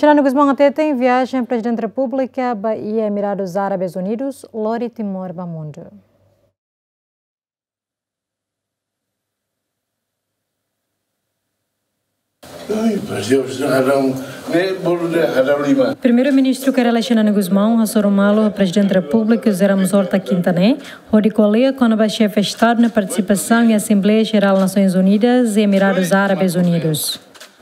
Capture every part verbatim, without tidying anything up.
Xanana Gusmão hateten viajen Prezidente Repúblika ba iha Emiradus Árabes Unidus lori Timor ba mundu. Ai, Deus, hadaun, ne bolu de hadaun lima. Primeiru-Ministru Kay Rala Xanana Gusmão hasoru malu Prezidente Repúblika José Ramos Horta kinta ne'e, hodi ko'alia kona-ba Xefe Estadu nia partisipasaun iha Asembleia Jerál Nasoins Unidas iha Emiradus Árabes Unidus.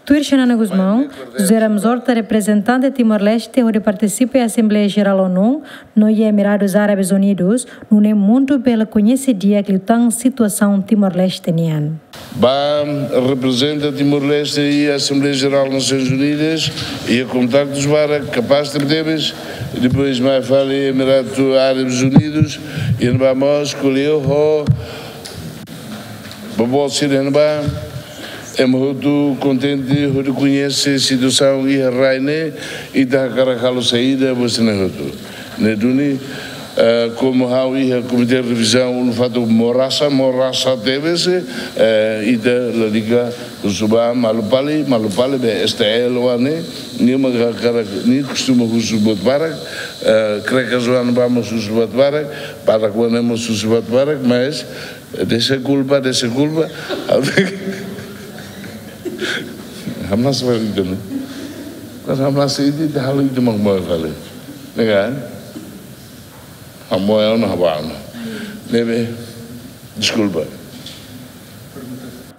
Tuir Xanana Gusmão, José Ramos Horta reprezentante Timor-Leste hodi partisipa iha Asembleia Jerál ONU no iha Emiradus Árabes Unidus, nune'e mundu bele koñese di'ak liután situasaun Timor-Leste nian. Ba reprezenta Timor-Leste iha Asembleia Jerál Nasoins Unidas, iha kontaktus barak, kapás tebetebes, depois mai fali Emiratu Árabes Unidus, iha ne'ebá mós ko'alia ho boboot sira iha ne'ebá, ema hotu kontente hodi koñese situasaun iha rai ne'e, ita hakarak halo saida ba sira-ne'e hotu. Ne'e duni, eh, komu ha'u iha Komité Revizaun, ulun fatuk morasa, morasa tebes, eh, ita lalika husu ba malu fali, malu fali be S T L oan ne'e, nia mak hakarak, nia kostuma husu buat barak, eh, Krekas oan ne'ebá mós husu buat barak, barak oan ne'e mós husu buat barak, mas, eh, deskulpa, deskulpa. Hamnasa fali ita, no? Kan hamnasa ita, ita halo ita mak moe fali. Ne'e ka? Hamoe ona, hamoe ona. Ne'ebé, deskulpa.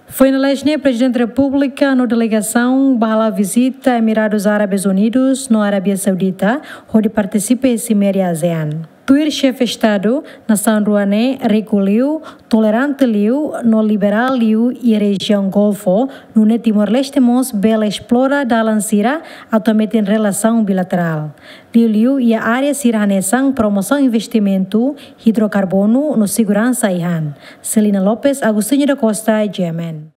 Foin lalais ne'e Prezidente Repúblika no delegasaun bá halo vizita Emiradus Árabes Unidus no Arábia Saudita, hodi partisipa iha simeira ASEAN. Tuir Xefe Estadu, nasaun rua ne'e riku liu, tolerante liu, no liberál liu iha rejiaun Golfu, nune'e Timor-Leste mós bele esplora dalan sira atu hametin relasaun bilaterál. Liuliu iha área sira hanesan promosaun investimentu, idrokarbonu no seguransa ai-han. Celina Lopes, Agostinho da Costa, G M N.